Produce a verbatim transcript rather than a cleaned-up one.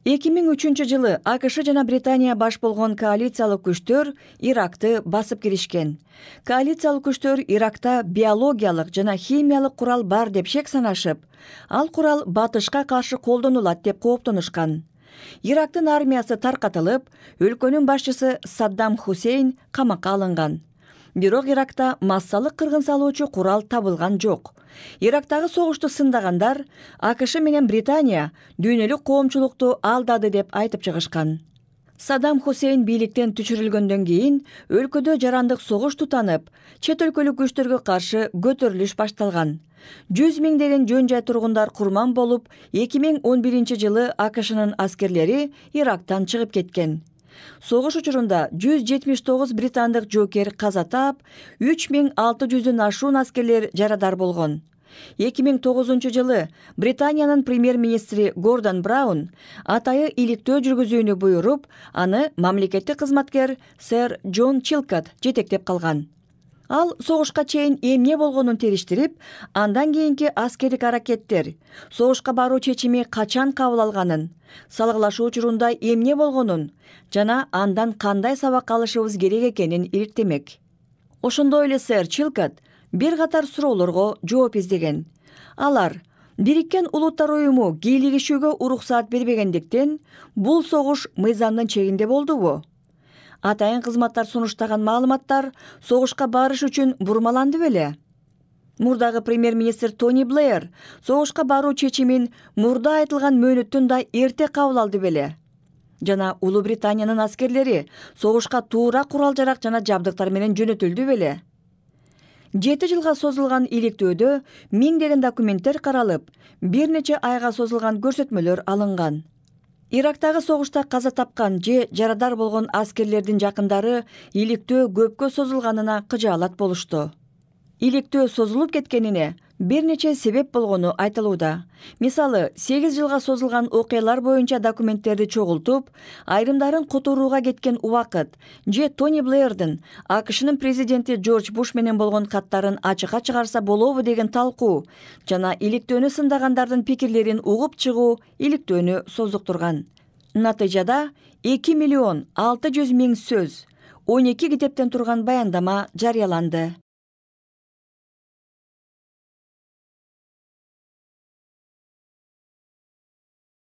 эки миң үчүнчү жылы АКШ жана Британия баш болгон коалициялык күчтөр Иракты басып киришкен. Коалициялык күчтөр Иракта биологиялык жана химиялык курал бар деп шек санашып, ал курал батышка каршы колдонулат деп кооптонушкан. Ирактын армиясы таркатылып, өлкөнүн башчысы Саддам Хусейн камакка алынган. Бирок Иракта массалык кыргын салуучу курал табылган жок. Ирактагы согушту сындагандар АКШ менен Британия дүйнөлүк коомчулукту алдады деп айтып чыгышкан. Саддам Хусейн бийликтен түшүрүлгөндөн кийин өлкөдө жарандык согуш тутанып, чет өлкөлүк күчтөргө каршы көтөрүлүш башталган. жүз миңдеген жөн жай тургундар курман болуп, эки миң он биринчи жылы АКШнын аскерлери Ирактан чыгып кеткен. Согуш учурунда жүз жетимиш тогуз британдык жоокер каза таап, үч миң алты жүздөн ашуун аскерлер жарадар болгон. эки миң тогузунчу жылы Британиянын премьер-министри Гордон Браун атайы иликтөө жүргүзүүнү буйруп, аны мамлекеттик кызматкер сэр Джон Чилкот жетектеп калган. Ал согушка чейин эмне болгонун териштирип, андан кийинки аскердик аракеттер, согушка баруу чечими качан кабыл алганын, салгылашуу учурунда эмне болгонун жана андан кандай сабак алышыбыз керек экенин иликтемек. Ошондой эле сэр Чилкот бир катар суроолорго жооп издеген. Алар Бириккен Улуттар уюму кийлигишүүгө уруксаат бербегендиктен бул согуш мыйзамдын чегинде болдубу? Атайын кызматтар сунуштаган маалыматтар согушка барыш үчүн бурмаланды беле? Мурдагы премьер-министр Тони Блэйр согушка баруу чечимин мурда айтылган мөөнөттөн да эрте кабыл алды беле? Жана Улуу Британиянын аскерлери согушка туура курал-жарак жана жабдыктар менен жөнөтүлдү беле? Жети жылга созулган иликтөөдө миңдеген документтер каралып, бир нече айга созулган көрсөтмөлөр алынган. Ирактагы согушта каза тапкан же жарадар болгон аскерлердин жакындары иликтөө көпкө созулганына кыжаалат болушту. Иликтөө созулуп кеткенине бир нече себеп болгону айтылууда. Мисалы, сегиз жылга созулган окуялар боюнча документтерди чогултуп, айрымдарын которууга кеткен убакыт, же Тони Блэйрдин АКШнын президенти Джордж Буш менен болгон каттарын ачыкка чыгарса болобу деген талкуу жана иликтөөнү сындагандардын пикирлерин угуп чыгуу иликтөөнү создуктурган. Натыйжада эки миллион алты жүз миң сөз, он эки китептен турган баяндама жарыяланды.